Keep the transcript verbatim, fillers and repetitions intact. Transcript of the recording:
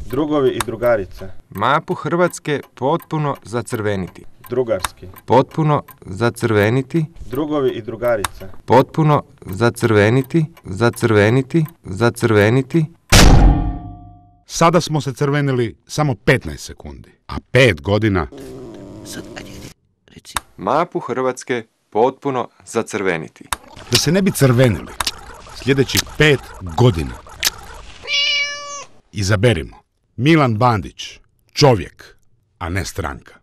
Drugovi i drugarice. Mapu Hrvatske potpuno zacrveniti. Drugarski. Potpuno zacrveniti. Drugovi i drugarice. Potpuno zacrveniti, zacrveniti, zacrveniti. Sada smo se crvenili samo petnaest sekundi, a pet godina... Sad, ajde, ajde, reci. Mapu Hrvatske potpuno zacrveniti. Da se ne bi crvenili, sljedećih pet godina. Izaberimo. Milan Bandić, čovjek, a ne stranka.